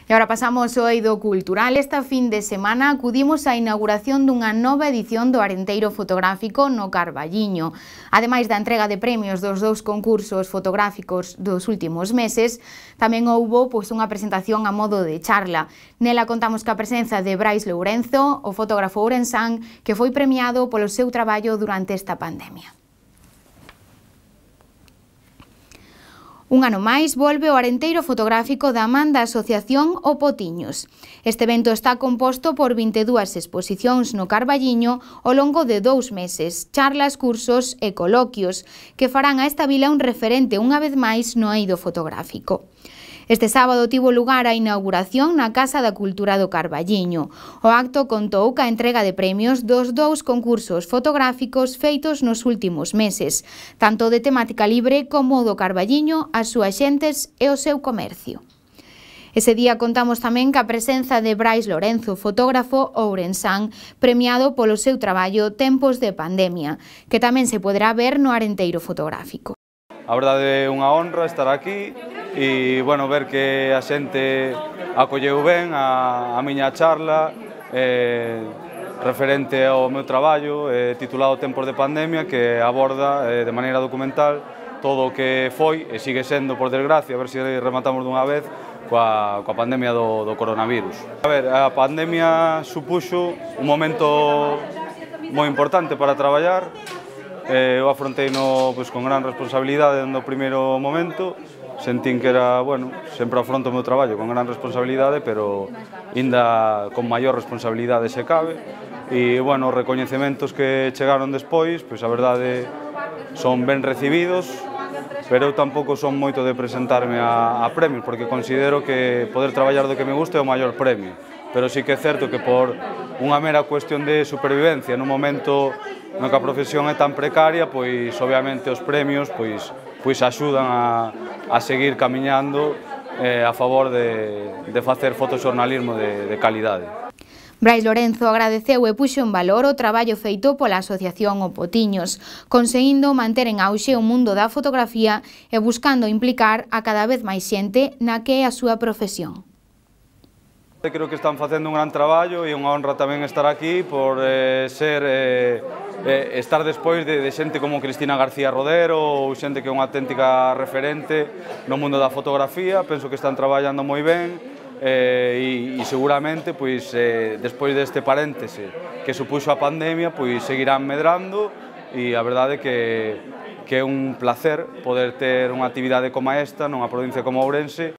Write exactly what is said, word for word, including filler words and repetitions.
E agora pasamos ao eido cultural. Esta fin de semana acudimos á inauguración dunha nova edición do Arenteiro Fotográfico no Carballiño. Ademais da entrega de premios dos dous concursos fotográficos dos últimos meses, tamén houbo pois, unha presentación a modo de charla. Nela contamos ca presenza de Brais Lourenzo, o fotógrafo ourensán, que foi premiado polo seu traballo durante esta pandemia. Un ano máis volve o Arenteiro Fotográfico da man da Asociación O Potiños. Este evento está composto por vinte e dúas exposicións no Carballiño ao longo de dous meses, charlas, cursos e coloquios que farán a esta vila un referente unha vez máis no eido fotográfico. Este sábado tivo lugar a inauguración na Casa da Cultura do Carballiño. O acto contou ca entrega de premios dos dous concursos fotográficos feitos nos últimos meses, tanto de temática libre como do Carballiño, as súas xentes e o seu comercio. Ese día contamos tamén ca presenza de Brais Lourenzo, fotógrafo ourensán, premiado polo seu traballo Tempos de Pandemia, que tamén se poderá ver no Arenteiro Fotográfico. A verdade é unha honra estar aquí e, bueno, ver que a xente acolleu ben a, a miña charla eh, referente ao meu traballo eh, titulado Tempos de Pandemia, que aborda eh, de maneira documental todo o que foi e sigue sendo, por desgracia, a ver se rematamos dunha vez, coa, coa pandemia do, do coronavirus. A ver, a pandemia supuxo un momento moi importante para traballar. Eh, eu afrontei no, pues, con gran responsabilidade no primeiro momento, sentín que era, bueno, sempre afronto o meu traballo con gran responsabilidade, pero ainda con maior responsabilidade se cabe, e, bueno, os recoñecementos que chegaron despois, pois a verdade son ben recibidos, pero eu tampouco son moito de presentarme a, a premios, porque considero que poder traballar do que me gusta é o maior premio, pero sí que é certo que por unha mera cuestión de supervivencia nun momento no que a profesión é tan precaria, pois obviamente os premios pois, pois axudan a, a seguir camiñando eh, a favor de, de facer fotoxornalismo de, de calidade. Brais Lourenzo agradeceu e puxo en valor o traballo feito pola Asociación O Potiños, conseguindo manter en auxe o mundo da fotografía e buscando implicar a cada vez máis xente na que é a súa profesión. Creo que están facendo un gran traballo e unha honra tamén estar aquí por eh, ser eh, eh, estar despois de, de xente como Cristina García Rodero ou xente que é unha auténtica referente no mundo da fotografía. Penso que están traballando moi ben eh, e, e seguramente pois, eh, despois deste paréntese que supuxo a pandemia pois seguirán medrando, e a verdade é que que é un placer poder ter unha actividade como esta nunha provincia como Ourense